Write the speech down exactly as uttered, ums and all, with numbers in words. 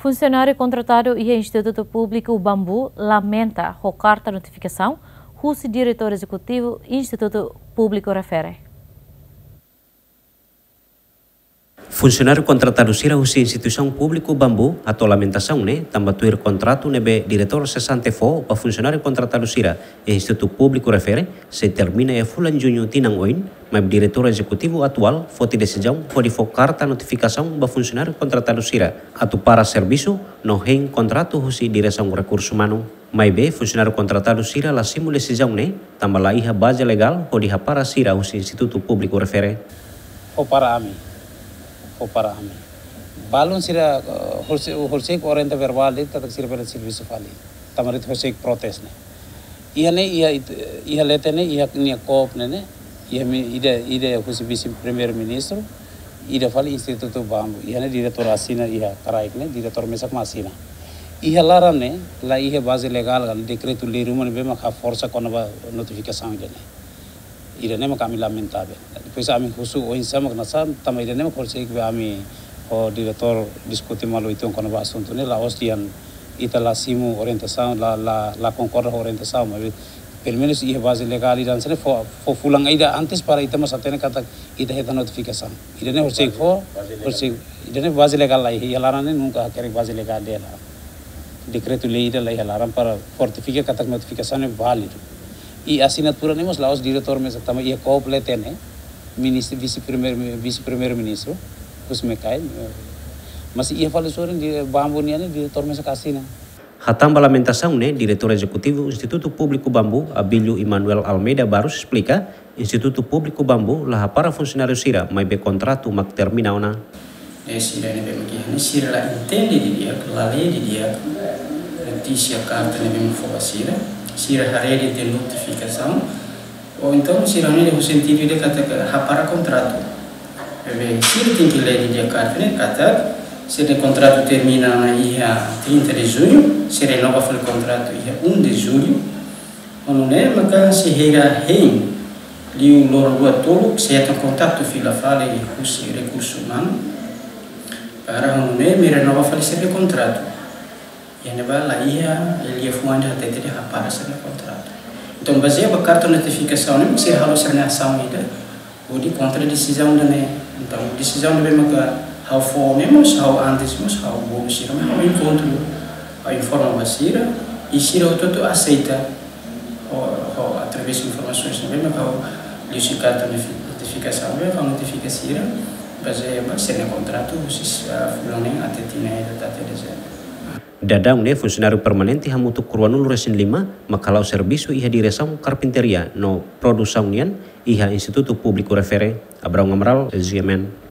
Funsionáriu kontratadu iha Institutu Públiku Bambu lamenta ho karta notifikasaun husi Diretór Ezekutivu Institutu Públiku refere. Funsionáriu kontratadu sira husi Instituisaun Públiku Bambu hato'o lamentasaun ne'e tanba tuir kontratu ne'ebé diretór sesante fó ba funsionáriu kontratadu sira iha Institutu Públiku refere sei termina iha fulan Juñu tinan oin, maibé Diretór Ezekutivu atuál foti desizaun hodi fó karta notifikasaun ba funsionáriu kontratadu sira atu para servisu no hein kontratu husi Diresaun Rekursu Umanu. Maibé funsionáriu kontratadu sira la simu desizaun ne'e tanba la iha baze legál hodi hapara sira husi Institutu Públiku refere. Fó para ami, fó para ami. Balun sira, eh, horiseik, horiseik orienta verbál de'it katak sira bele servisu fali. Tanba de'it horiseik protes ne'e. Iha ne'e, iha it-, iha leten ne'e, iha nia kóp ne'e ne'e, iha mi-, ida, ida husi Vise-Primeiru-Ministru, ida fali Institutu Bambu. Iha ne'e diretór asina iha kraik ne'e, diretór mesak mak asina. Iha laran ne'e la iha baze legál ka dekretu-lei ruma ne'ebé mak haforsa kona-ba notifikasaun ida ne'e. Ida ne'e mak ami lamentavel. Depois ami husu oinsá mak ne'e sa, tanba ida ne'e mak horiseik be ami ho diretór diskute malu uitoan kona-ba asuntu ne'e, la'ós dehan ita la simu orientasaun, la, la, la konkorda ho orientasaun, maibé pelumenus iha baze legál ida hanesan ne'e fó, fó fulan ida antes para ita mós hatene katak ita hetan notifikasaun. Ida ne'e horiseik fó, horiseik, ida ne'e baze legál la iha, iha laran ne'e nunka hakerek baze legál dela. Dekretu-lei ida la iha laran para fortifika katak notifikasaun ne'e válidu. I asinatura ne'e mós la'ós diretór mesak, tanba iha kóp leten ne'e, Ministru, Vise-Primeiru, Vise-Primeiru-Ministru, husi mekai, eh, mas iha fali sorin di Bambu nian ne'e diretór mesak asina. Hatán ba lamentasaun ne'e, Diretór Ezekutivu Institutu Públiku Bambu, Abílio Emanuel Almeida Barros, esplika, Institutu Públiku Bambu la hapara funsionáriu sira, maibé kontratu mak termina ona. Ne'e sira ne'ebé mak iha ne'e sira la entende didi'ak, la lee didi'ak notísia karta ne'ebé mak fó ba sira, sira haree de'it notifikasaun, ou entaun sira hanoin de'it ho sentidu ida katak hapara kontratu. Maibé sira tenke lee didi'ak karta ne'e katak sira-nia kontratu termina ona iha trinta de junho, sei renova fali kontratu iha um de julho. Ho nune'e maka sei hein, liu loron rua tolu sei hetan kontaktu fila fali husi Rekursu Umanu para ho nune'e mai renova fali sira-nia kontratu. Iha ne'ebá la iha liafuan ida hatete dehan hapara sira-nia kontratu. Entaun, bazeia ba karta notifikasaun ne'e, sira halo sira-nia asaun ida hodi kontra desizaun ida ne'e. Entaun, desizaun ne'ebé maka ha'u fó ne'e mós ha'u antes mós ha'u bolu sira, mas ha'u enkontru, ha'u informa ba sira, i sira hotu-hotu aseita ho, ho através informasoens ne'ebé maka ha'u liuhusi karta notifi-, notifikasaun ne'ebé ha'u notifika sira, bazeia ba sira-nia kontratu husi, ah, fulan neen até tinan ida até dezembru. Daudaun ne'e funsionáriu permanente hamutuk ruanulu-resin-lima mak hala'o servisu iha diresaun karpintaria no produsaun nian iha Institutu Públiku refere. Abraão Amaral, G M N.